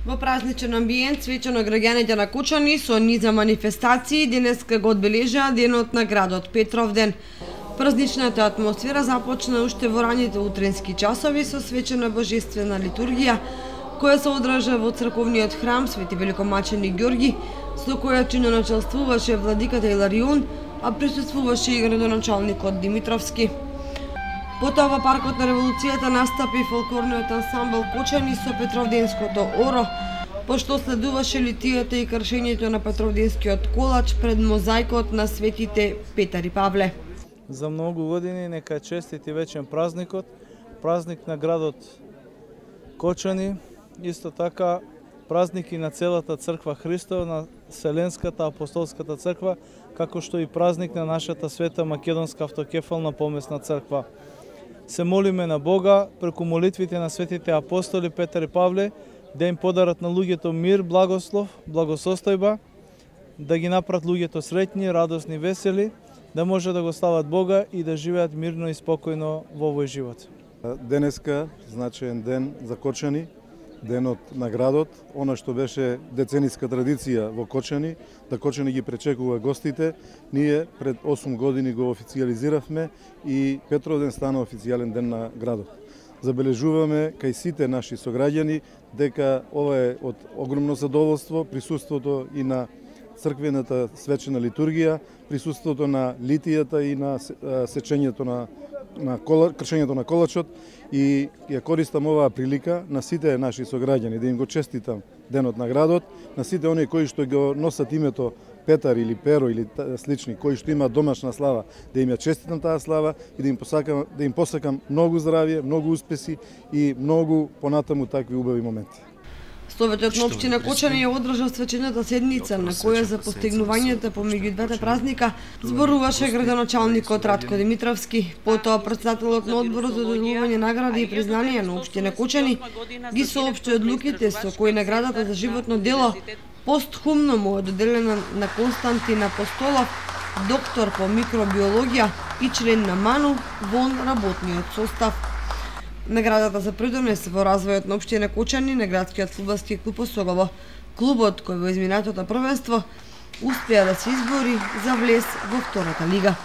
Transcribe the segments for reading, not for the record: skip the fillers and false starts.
Во празничен амбиент, свечено граѓаните на Кочани со низа манифестации денеска го одбележаа денот на градот Петровден. Празничната атмосфера започна уште во раните утренски часови со свечена божествена литургија, која се одржа во црковниот храм Свети Великомаченик Ѓорги, со која чиноначелствуваше владиката Иларион, а присуствуваше и градоначалникот Димитровски. Потоа во паркот на Револуцијата настапи фолклорниот ансамбл Кочани со Петровденското оро, пошто следуваше литијата и кршењето на Петровденскиот колач пред мозаикот на светите Петар и Павле. За многу години нека е честит и вечен празникот, празник на градот Кочани, исто така празник и на целата црква Христова, на Вселенската апостолската црква, како што и празник на нашата света Македонска автокефална помесна црква. Се молиме на Бога преку молитвите на светите апостоли Петар и Павле да им подарат на луѓето мир, благослов, благосостојба, да ги направат луѓето среќни, радосни, весели, да може да го слават Бога и да живеат мирно и спокојно во овој живот. Денеска значаен ден за Кочани, денот на градот, она што беше децениска традиција во Кочани, да Кочани ги пречекува гостите. Ние пред 8 години го официјализиравме и Петровден стана официјален ден на градот. Забележуваме кај сите наши сограѓани дека ова е од огромно задоволство, присуството и на црквената свечена литургија, присуството на литијата и на сечењето кршењето на колачот, и ја користам оваа прилика на сите наши сограѓани да им го честитам денот на градот, на сите оние кои што го носат името Петар или Перо или слични, кои што имаат домашна слава, да им ја честитам таа слава и да им посакам многу здравје, многу успеси и многу понатаму такви убави моменти. Советот на општина Кочани ја одржа свечената седница, на која за постигнувањата помеѓу двете празника зборуваше градоначалникот Ратко Димитровски. Потоа председателот на одборот за доделување награди и признанија на општина Кочани ги соопшти одлуките со кои наградата за животно дело постхумно му е доделена на Константин Апостолов, доктор по микробиологија и член на МАНУ во работниот состав. Наградата за придонес во развојот на општина Кочани на градскиот фудбалски клуб Осогово. Клубот кој во изминатото првенство успеа да се избори за влез во втората лига.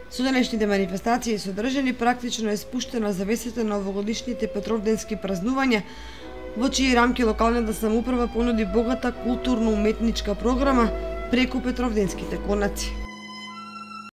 Со денешните манифестации содржани практично е спуштена завесата на овогодишните петровденски празнувања, во чии рамки локалната самоуправа понуди богата културно-уметничка програма преку петровденските конаци.